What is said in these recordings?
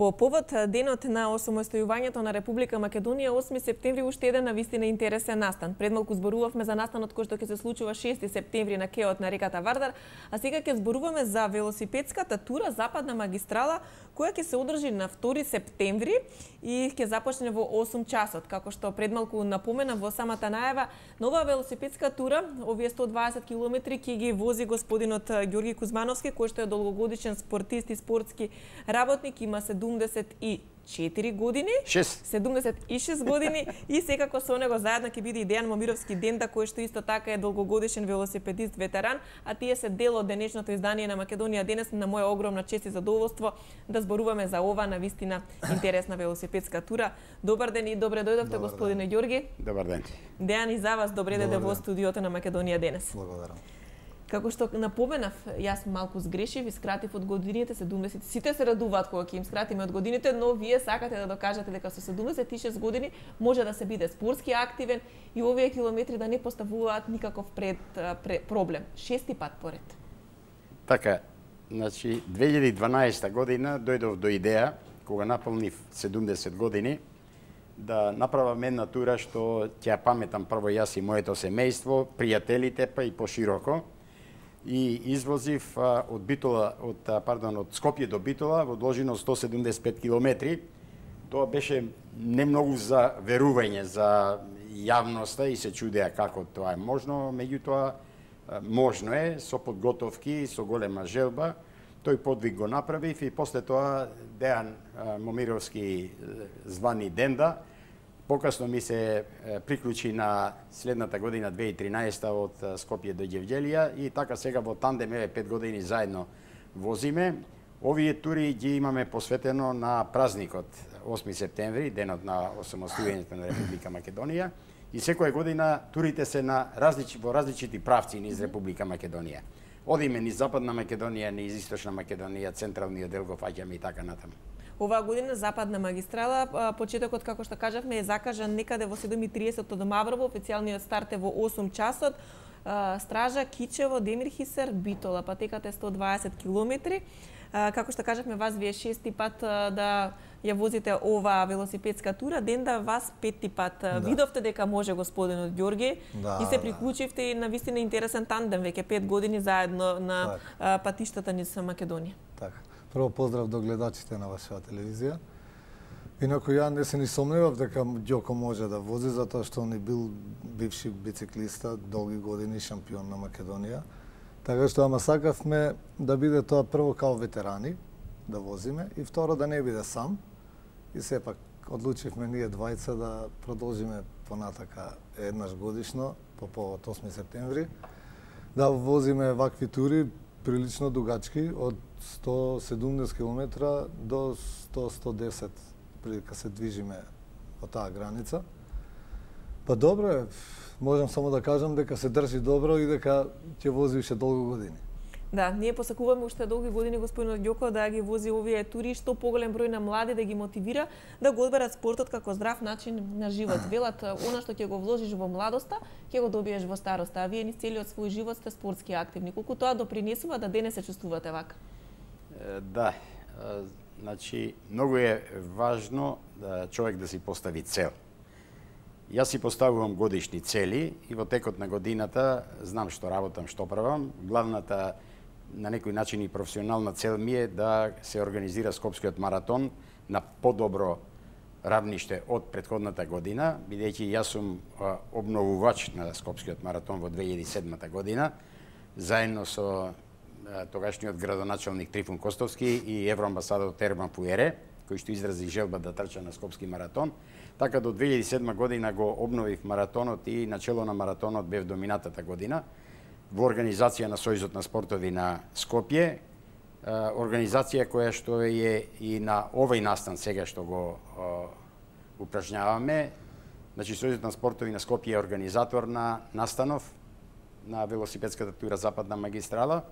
По повод денот на осамостојувањето на Република Македонија, 8 септември уште еден навистина интересен настан. Предмалку зборувавме за настанот кој што ќе се случува 6 септември на кеот на реката Вардар, а сега ќе зборуваме за велосипедската тура Западна магистрала, која ќе се одржи на 2 септември и ќе започне во 8 часот. Како што предмалку напомена во самата најава, нова велосипедска тура, овие 120 километри ќе ги вози господинот Ѓорги Кузмановски, кој што е долгогодишен спортист и спортски работник, има 74 години, 76 години и секако со него заедно ќе биде и Дејан Момировски Денда, кој што исто така е долгогодишен велосипедист ветеран, а тие се дел од денешното издание на Македонија денес. На моја огромна чест и задоволство да зборуваме за ова навистина интересна велосипедска тура. Добар ден и добре дојдовте, господине Ѓорги. Добар ден. Дејан, и за вас добре дојде во студиото на Македонија денес. Благодарам. Како што напоменав, јас малку сгрешив и скратив од годините 70. Сите се радуваат кога ќе им скратиме од годините, но вие сакате да докажете дека со 76 години може да се биде спортски активен и овие километри да не поставуваат никаков проблем. 6 пат поред. Така, значи 2012 година дојдов до идеја, кога наполнив 70 години, да направам една тура што ќе паметам прво јас и моето семејство, пријателите, па и пошироко. И извозив од Скопје до Битола во должина 175 километри. Тоа беше не многу за верување за јавноста и се чудеа како тоа е можно, меѓутоа можно е, со подготовки, со голема желба. Тој подвиг го направив и после тоа Дејан Момировски звани Денда. Покасно ми се приклучи на следната година, 2013 од Скопје до Ѓевѓелија и така сега во тандем 5 години заедно возиме. Овие тури ги имаме посветено на празникот 8 септември, денот на осамостојувањето на Република Македонија, и секоја година турите се во различити правци низ Република Македонија. Одиме низ Западна Македонија, низ Источна Македонија, централниот дел го фаќаме и така натаму. Оваа година Западна магистрала, почетокот, како што кажавме, е закажан некаде во 7:30 од Маврово, официјалниот старт е во 8 часот. Стража, Кичево, Демирхисер, Битола, патеката е 120 километри. Како што кажавме, вас вие 6 пат да ја возите оваа велосипедска тура, Денда вас 5 пат. Да. Видовте дека може господинот Ѓорги и се приклучивте и на вистина интересен тандем, веќе 5 години заедно на патиштата низ Македонија. Така. Прво поздрав до гледачите на вашата телевизија. Инаку ја не се ни сомневав дека Ѓоко може да вози, затоа што он е бил бивши бициклиста, долги години шампион на Македонија. Така што ама сакавме да биде тоа прво као ветерани, да возиме, и второ да не биде сам. И сепак одлучивме ние двајца да продолжиме понатака еднаш годишно, по повод 8 септември, да возиме вакви тури прилично дугачки, од 170 км до 100-110 прилика се движиме по таа граница. Па добро е, можам само да кажам дека се држи добро и дека ќе вози уште долго години. Да, ние посакуваме уште долги години господинот Ѓоко да ги вози овие тури, што поголем број на млади да ги мотивира да го одберат спортот како здрав начин на живот. Велат, она што ќе го вложиш во младоста, ќе го добиеш во староста, а вие низ целиот свој живот сте спортски активни. Колку тоа допринесува да денес се чувствувате вака? Да, значи многу е важно да човек да си постави цел. Јас си поставувам годишни цели и во текот на годината знам што работам, што правам. Главната на некој начин и професионална цел ми е да се организира Скопскиот маратон на подобро равниште од претходната година, бидејќи јас сум обновувач на Скопскиот маратон во 2007 година, заедно со тогашниот градоначалник Трифун Костовски и евроамбасадор Терман Пуере, кој што изрази желба да трча на Скопски маратон. Така до 2007 година го обновив маратонот и начело на маратонот бев до минатата година во организација на Сојузот на спортови на Скопје, организација која што е и на овој настан сега што го упражняваме. Значи Сојузот на спортови на Скопје е организатор на настанов на велосипедската тура Западна магистрала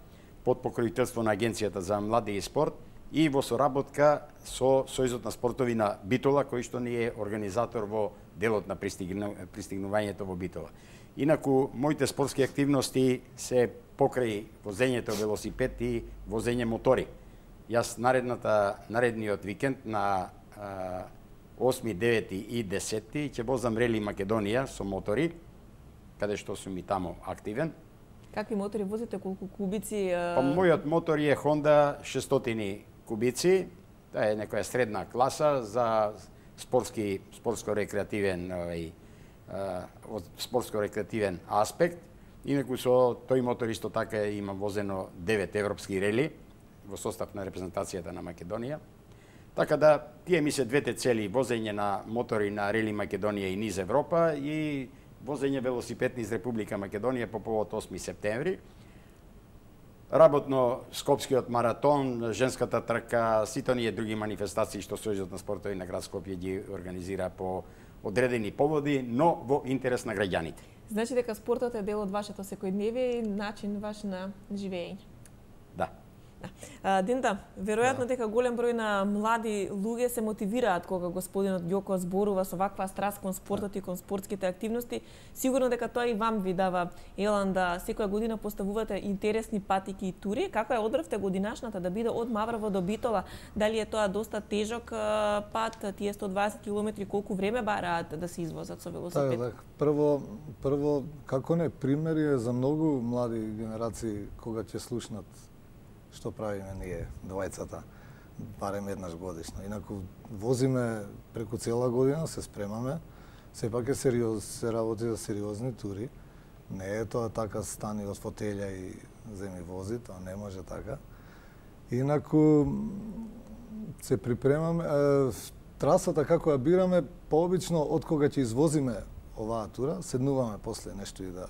под покровителство на Агенцијата за млади и спорт и во соработка со Сојузот на спортови на Битола, кој што ни е организатор во делот на пристигнувањето во Битола. Инаку, моите спортски активности се покрај возењето велосипед и возење мотори. Јас наредниот викенд на 8, 9 и 10 ќе возам Рели Македонија со мотори, каде што сум и тамо активен. Какви мотори возите, колку кубици? Па мојот мотор е Honda 600 кубици, тоа е некоја средна класа за спортско-рекреативен аспект. Инаку со тој мотор исто така имам возено 9 европски рели во состав на репрезентацијата на Македонија. Така да, тие ми се двете цели, возење на мотори на Рели Македонија и низ Европа и возење велосипед низ Република Македонија по повод 8 септември. Работно Скопскиот маратон, женската трка, сите оние други манифестации што Сојузот на спортови на град Скопје ги организира по одредени поводи, но во интерес на граѓаните. Значи дека спортот е дел од вашето секојдневие и начин ваш на живење. Да. Динта, веројатно дека голем број на млади луѓе се мотивираат кога господинот Ѓоко зборува со ваква страст кон спортот и кон спортските активности. Сигурно дека тоа и вам ви дава елан да секоја година поставувате интересни патики и тури. Како ја одбравте годинашната да биде од Маврово до Битола? Дали е тоа доста тежок пат, тие 120 километри, колку време бараат да се извозат со велосипед? Так. Прво, како не, примери е за многу млади генерации кога ќе слушнат што правиме ние, двајцата, барем еднаш годишно. Инаку возиме преку цела година, се спремаме, сепак е се работи за сериозни тури. Не е тоа така стани од фотелја и земи вози, тоа не може така. Инаку се припремаме, трасата како ја бираме, пообично од кога ќе извозиме оваа тура, седнуваме после нешто и да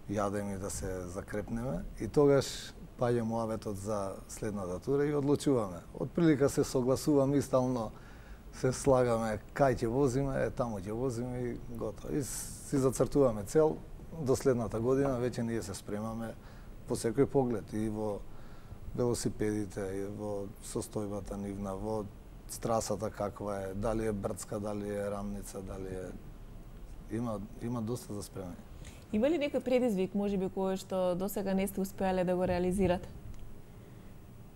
јадеме и да се закрепнеме и тогаш паѓа муаветот за следната тура и одлучуваме. Од прилика се согласуваме и стално се слагаме кај ќе возиме, таму ќе возиме и готово. И си зацртуваме цел до следната година, веќе ние се спремаме по секој поглед и во велосипедите, и во состојбата нивна, во страсата каква е, дали е брдска, дали е рамница, дали е... Има доста за спремање. Има ли некој предизвик, можеби, кој што досега не сте успеале да го реализирате?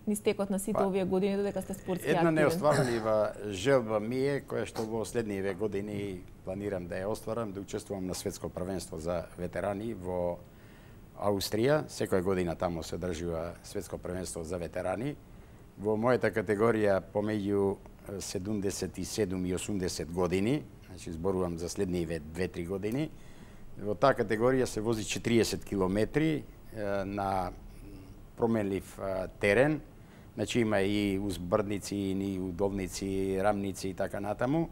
Низ текот на сите овие години додека сте спортски активен? Една неостварлива желба ми е, која што во следниве години планирам да ја остварам, да учествувам на светско првенство за ветерани во Аустрија. Секоја година таму се одржува светско првенство за ветерани. Во мојата категорија помеѓу 77 и 80 години, значи зборувам за следниве 2-3 години. Во таа категорија се вози 40 километри на променлив терен. Значи има и узбрдници, и удолници, рамници и така натаму.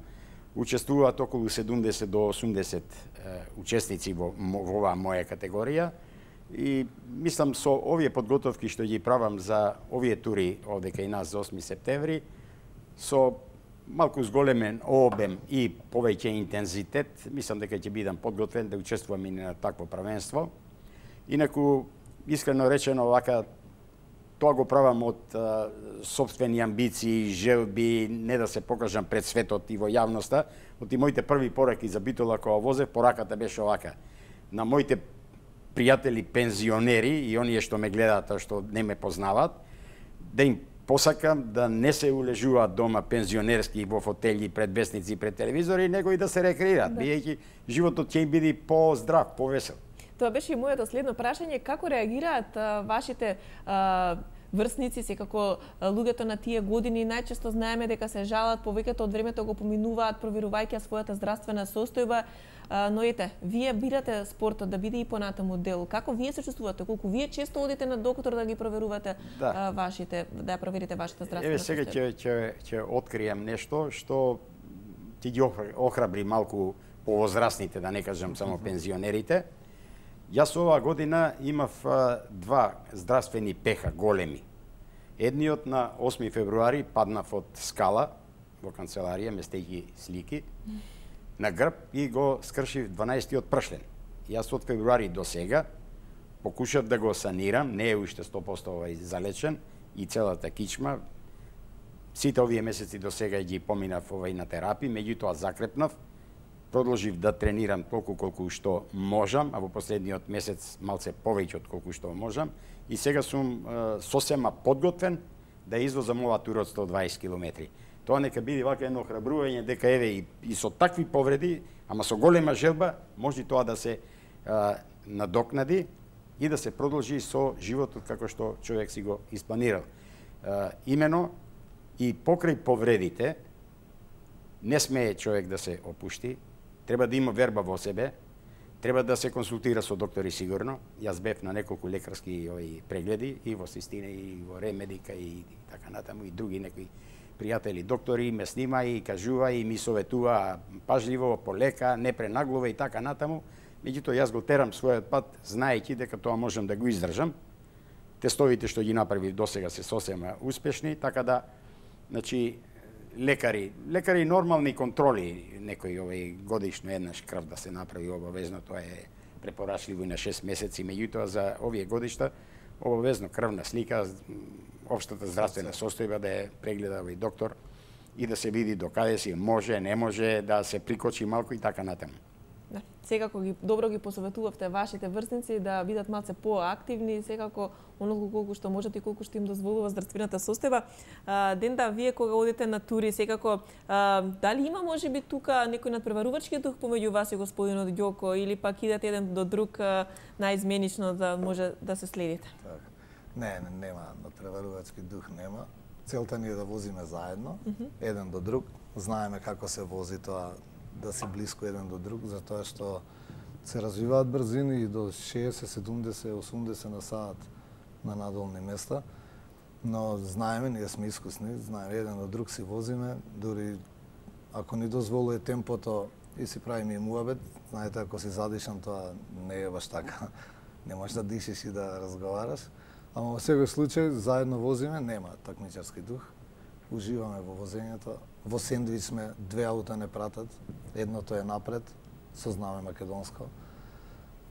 Учествуваат околу 70 до 80 учесници во оваа моја категорија. И мислам со овие подготовки што ги правам за овие тури овде кај нас за 8 септември, со малку зголемен обем и повеќе интензитет, мислам дека ќе бидам подготвен да учествувам и на такво првенство. Инаку, искрено речено, вака, тоа го правам од сопствени амбиции, желби, не да се покажам пред светот и во јавноста. Од и моите први пораки за Битола кога возев, пораката беше овака. На моите пријатели пензионери и оние што ме гледаат, што не ме познаваат, да им посакам да не се улежуваат дома пензионерски во фотели, пред весници, пред телевизори, него и да се рекреираат, бидејќи животот ќе им биде по-здрав, повесел. Тоа беше и моето следно прашање, како реагираат вашите врсници, секако луѓето на тие години, најчесто знаеме дека се жалат, повеќето од времето го поминуваат проверувајќи својата здравствена состојба, но ете, вие бирате спортот да биде и понатаму дел. Како вие се чувствувате? Колку вие често одите на доктор да ги проверувате вашите, да проверите вашата здравствена состојба? Еве сега ќе откријам нешто што ќе ги охрабри малку повозрастните, да не кажам само пензионерите. Јас оваа година имав два здравствени пеха големи. Едниот на 8 февруари паднав од скала во канцеларија, местејќи слики, на грб и го скршив 12-тиот пршлен. Јас од февруари до сега покушав да го санирам, не е уште 100% залечен и целата кичма. Сите овие месеци до сега ги поминав на терапии, меѓутоа закрепнав. Продолжив да тренирам толку колку што можам, а во последниот месец малце повеќе од колку што можам. И сега сум сосема подготвен да извозам оваа тура од 120 километри. Тоа нека биде вака едно храбрување дека еве и со такви повреди, ама со голема желба, може тоа да се надокнади и да се продолжи со животот како што човек си го испланирал. Имено и покрај повредите не смее човек да се опушти, треба да има верба во себе, треба да се консултира со доктори сигурно. Јас бев на неколку лекарски прегледи и во Систина и во Ремедика и така натаму и други некои пријатели доктори ме снима и кажува и ми советува пажливо, полека, не пренаглува и така натаму. Меѓутоа јас го терам својот пат знаејќи дека тоа можам да го издржам. Тестовите што ги направив досега се сосема успешни, така да значи лекари нормални контроли, некој годишно еднаш крв да се направи обавезно, тоа е препорачливо и на 6 месеци, меѓутоа за овие годишта обавезно крвна слика, општата здравствена состојба да ја прегледа овој доктор и да се види докаде си може, не може, да се прикочи малку и така натаму. Да, секако добро ги посоветувавте вашите врсници да бидат малце поактивни, секако оноliko колку што можат и колку што им дозволува здравствената состојба. Денда, вие кога одите на тури, секако дали има можеби тука некој надпреварувачки дух помеѓу вас и господинот Ѓоко или пак идете еден до друг наизменично да може да се следите? Не, нема надпреварувачки дух, нема. Целта ни е да возиме заедно, еден до друг. Знаеме како се вози тоа, да си блиско еден до друг, затоа што се развиваат брзини и до 60, 70, 80 на саат на надолни места, но знаеме, ние сме искусни, знаеме еден до друг си возиме, дури ако ни дозволува темпото и си правиме и муабет, знаете, ако си задишан, тоа не е баш така, не можеш да дишиш и да разговараш, ама во секој случај заедно возиме, нема такмичарски дух, уживаме во возењето. Во сендвич сме, 2 аута не пратат, едното е напред, со знаме македонско.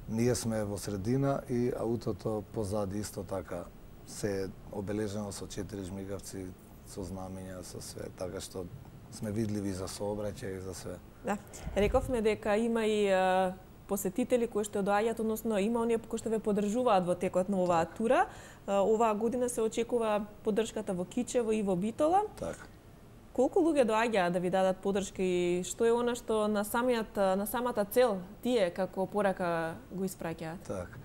Ние сме во средина и аутото позади исто така се обележено со 4 жмигавци, со знамења, со све, така што сме видливи за сообраќај и за све. Да, рековме дека има и посетители кои што доаѓаат, односно има оние кои што ве поддржуваат во текот на оваа тура. Оваа година се очекува поддршката во Кичево и во Битола. Така. Колку луѓе доаѓаат да ви дадат поддршка и што е она што на самата цел тие како порака го испраќаат? Така.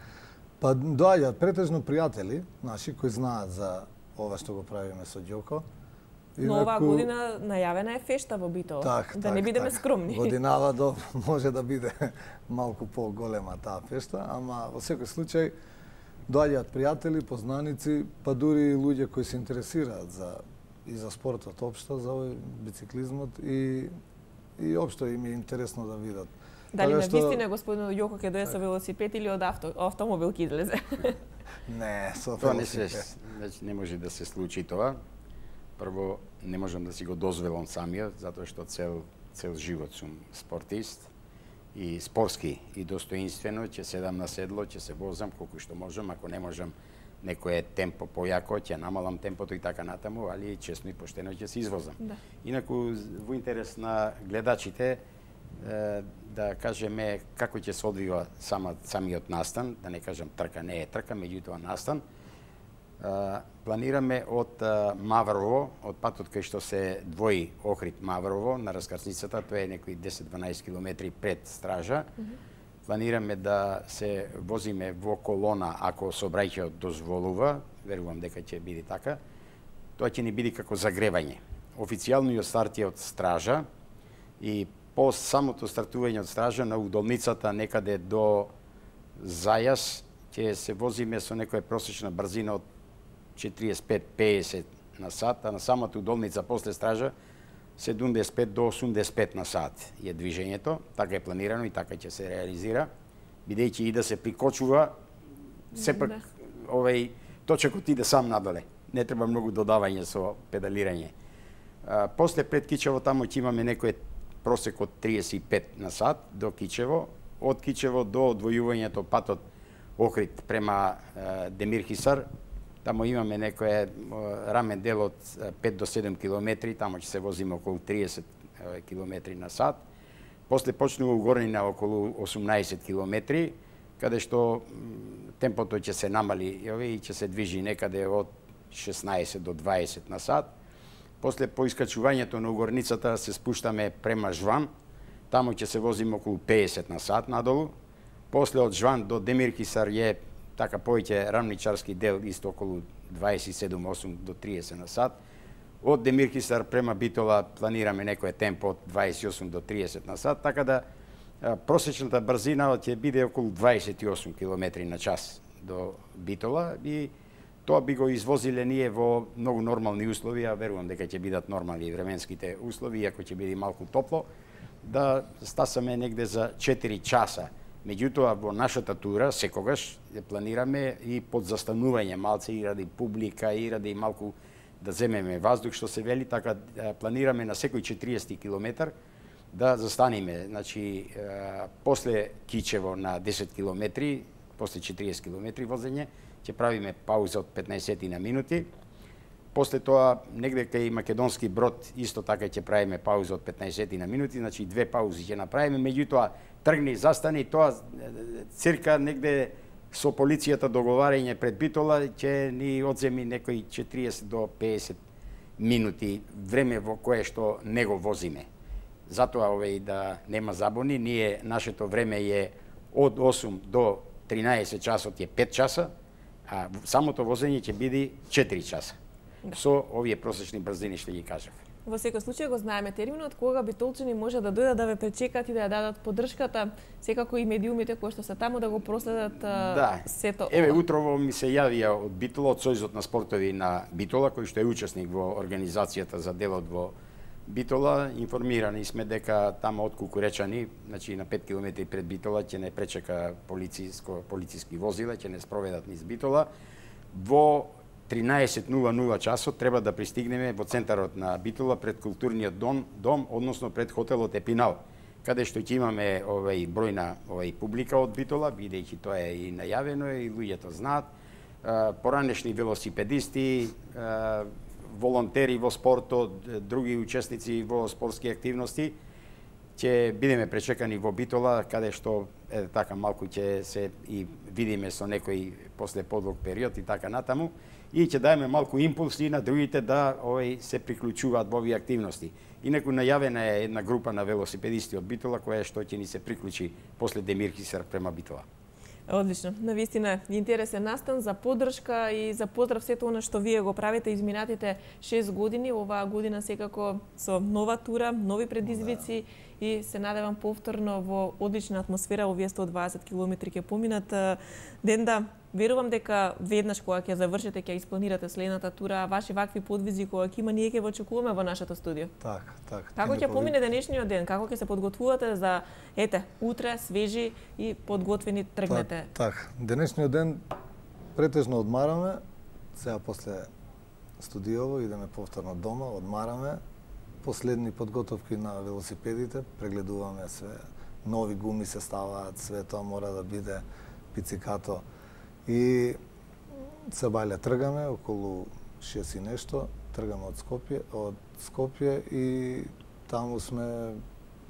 Па доаѓаат претежно пријатели наши кои знаат за ова што го правиме со Ѓоко. Но оваа година најавена е фешта во Битола, да не бидеме скромни. Годинава може да биде малку поголема таа фешта, ама во секој случај доаѓаат пријатели, познаници, па дури луѓе кои се интересираат и за спортот општо, за овој бициклизмот и општо им е интересно да видат. Дали на вистина господинот Ѓоко ќе дое со велосипед или од автомобил ќе излезе? Не, со велосипед. Не може да се случи тоа. Прво, не можам да си го дозволам самиот, затоа што цел живот сум спортист и спортски и достоинствено, ќе седам на седло, ќе се возам колку што можам, ако не можам некое темпо појако, ќе намалам темпото и така натаму, али честно и поштено ќе се извозам. Да. Инаку, во интерес на гледачите, да кажеме како ќе се одвива самиот настан, да не кажам трка, не е трка, меѓутоа настан. Планираме од Маврово, од патот кај што се двои Охрид Маврово на раскрсницата, тоа е некои 10-12 километри пред Стража. Планираме да се возиме во колона ако сообраќајот дозволува, верувам дека ќе биде така. Тоа ќе ни биде како загревање. Официјалниот старт е од Стража и по самото стартување од Стража на удолницата некаде до Зајас ќе се возиме со некоја просечна брзина од 45-50 на сат, а на самата удолница после Стража 75 до 85 на сат е движењето, така е планирано и така ќе се реализира, бидејќи и да се прикочува, сепак овој точекот иде сам надоле, не треба многу додавање со педалирање. После пред Кичево таму ќе имаме некој просек од 35 на сат до Кичево, од Кичево до одвојувањето патот Охрид према Демирхисар. Таму имаме некој рамен дел од 5 до 7 километри, таму ќе се возиме околу 30 километри на сат. После почнува угорнина околу 18 километри, каде што темпото ќе се намали и ќе се движи некаде од 16 до 20 на сат. После по искачувањето на угорницата се спуштаме према Жван, таму ќе се возиме околу 50 на сат надолу. После од Жван до Демиркисар е така повеќе рамничарски дел, исто околу 27-8 до 30 на сат. Од Демиркисар према Битола планираме некој темпо од 28 до 30 на сат, така да просечната брзина ќе биде околу 28 км на час до Битола и тоа би го извозиле ние во многу нормални услови, а верувам дека ќе бидат нормални временските услови, иако ќе биде малку топло, да стасаме негде за 4 часа. Меѓутоа, во нашата тура секогаш планираме и под застанување малце и ради публика, и ради малку да земеме воздух, што се вели, така планираме на секој 40 километар да застаниме. Значи, после Кичево на 10 километри, после 40 километри возење, ќе правиме пауза од 15 на минути. После тоа, негде кај Македонски Брод, исто така ќе правиме пауза од 15 на минути, значи 2 паузи ќе направиме, меѓутоа тргни, застани, тоа цирка негде со полицијата договарање пред Битола ќе ни одземи некои 40 до 50 минути време во кое што не го возиме. Затоа да нема забуни, нашето време е од 8 до 13 часот е 5 часа, а самото возење ќе биде 4 часа. Со овие просечни брзини што ги кажав. Во секој случај го знаеме терминот, кога битолчани може да дојдат да ве пречекат и да ја дадат поддршката, секако и медиумите кои што се таму да го проследат сето ова. Еве утрово ми се јавија од Битола, од Сојузот на спортови на Битола, кој што е учесник во организацијата за делот во Битола. Информирани сме дека таму од Кукуречани, значи на 5 километри пред Битола, ќе не пречека полициски возила, ќе не спроведат низ Битола. Во 13:00 часот треба да пристигнеме во центарот на Битола пред културниот дом, односно пред хотелот Епинал, каде што ќе имаме бројна публика од Битола, бидејќи тоа е и најавено и луѓето знаат. Поранешни велосипедисти, волонтери во спортот, други учесници во спортски активности, ќе бидеме пречекани во Битола, каде што така малку ќе се и видиме со некој после подлог период и така натаму, и ќе даеме малку импулси на другите да се приклучуваат во овие активности. Инаку најавена е една група на велосипедисти од Битола која што ќе ни се приклучи после Демиркисар према Битола. Одлично. Навистина интересен настан за поддршка и за поздрав сето она што вие го правите изминатите 6 години. Оваа година секако со нова тура, нови предизвици и се надевам повторно во одлична атмосфера овие 120 километри ќе поминат. Денда, верувам дека веднаш кога ќе завршите, ќе испланирате следната тура, ваши вакви подвизи кога ќе има, ние ќе го очекуваме во нашето студио. Така. Како ќе помине денешниот ден? Како ќе се подготвувате за утре свежи и подготвени тргнете? Така. Денешниот ден претежно одмараме, сега после студиово идеме повторно дома, одмараме, последни подготовки на велосипедите, прегледуваме све, нови гуми се ставаат, све тоа мора да биде пицикато. И се бајле тргаме околу 6 и нешто, тргаме од Скопје и таму сме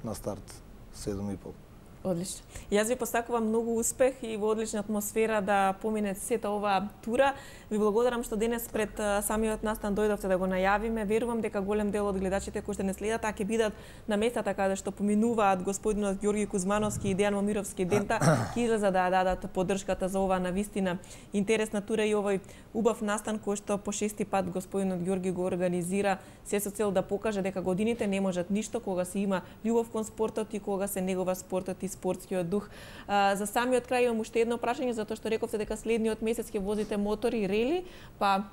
на старт 7:30. Одлично. Јас ви посакувам многу успех и во одлична атмосфера да помине сета оваа тура. Ви благодарам што денес пред самиот настан дојдовте да го најавиме. Верувам дека голем дел од гледачите кои што не следат, ќе бидат на местата каде што поминуваат господинот Ѓорги Кузмановски и Дејан Момировски Дента, ќе излезат да дадат поддршката за оваа навистина интересна тура и овој убав настан кој што по 6-ти пат господинот Ѓорги го организира, се со цел да покаже дека годините не можат ништо кога се има љубов кон спортот и кога се негова спортот и спортскиот дух. За самиот крај имам уште едно прашање, затоа што рековте дека следниот месец ќе возите мотори, рели, па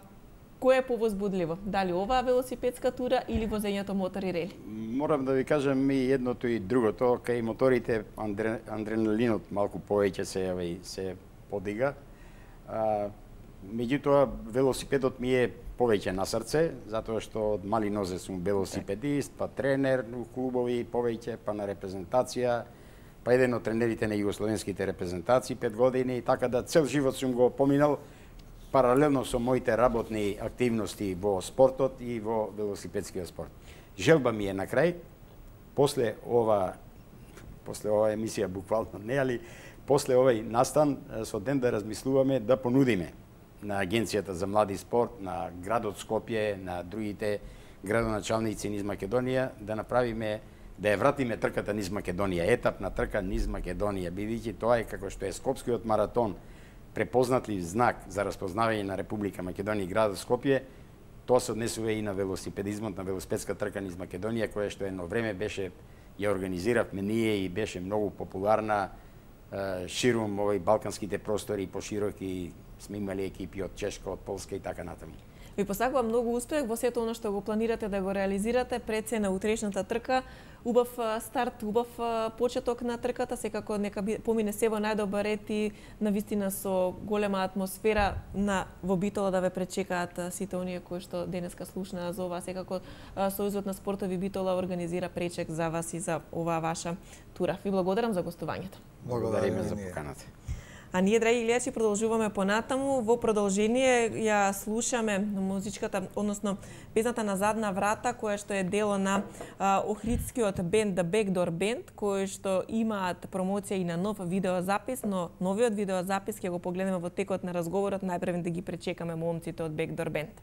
кој е повозбудливо? Дали оваа велосипедска тура или возењето мотори, рели? Морам да ви кажам и едното и другото, кај моторите адреналинот малку повеќе се подига. Меѓутоа велосипедот ми е повеќе на срце, затоа што од мали нозе сум велосипедист, па тренер у клубови повеќе, па на репрезентација, па еден од тренерите на југословенските репрезентации 5 години, така да цел живот сум го поминал паралелно со моите работни активности во спортот и во велосипедскиот спорт. Желба ми е на крај, после оваа емисија буквално не, али после овој настан со ден да размислуваме да понудиме на Агенцијата за млади спорт, на градот Скопје, на другите градоначалници низ Македонија, да направиме, да ја вратиме трката низ Македонија, етапна трка низ Македонија, бидејќи тоа е како што е Скопскиот маратон, препознатлив знак за распознавање на Република Македонија и градот Скопје, тоа се однесува и на велосипедизмот, на велосипедска трка низ Македонија, која што едно време беше, ја организиравме ние и беше многу популарна ширум овој балканските простори и пошироки, сме имали екипи од Чешка, од Полска и така натаму. Ви посакувам многу успех во сето оно што го планирате да го реализирате пред се на утрешната трка. Убав старт, убав почеток на трката, секако нека помине се во најдобар ред и навистина со голема атмосфера во Битола да ве пречекаат сите оние кои што денеска слушнаа за ова. Секако Сојузот на спортови Битола организира пречек за вас и за оваа ваша тура. Ви благодарам за гостувањето. Благодариме за поканата. А ние, драги гледачи, продолжуваме понатаму. Во продолжение ја слушаме музичката, односно песната На задна врата, која што е дело на охридскиот бенд The Backdoor Band, кои што имаат промоција и на нов видеозапис, но новиот видеозапис ќе го погледнеме во текот на разговорот. Најпрво да ги пречекаме момците од Backdoor Band.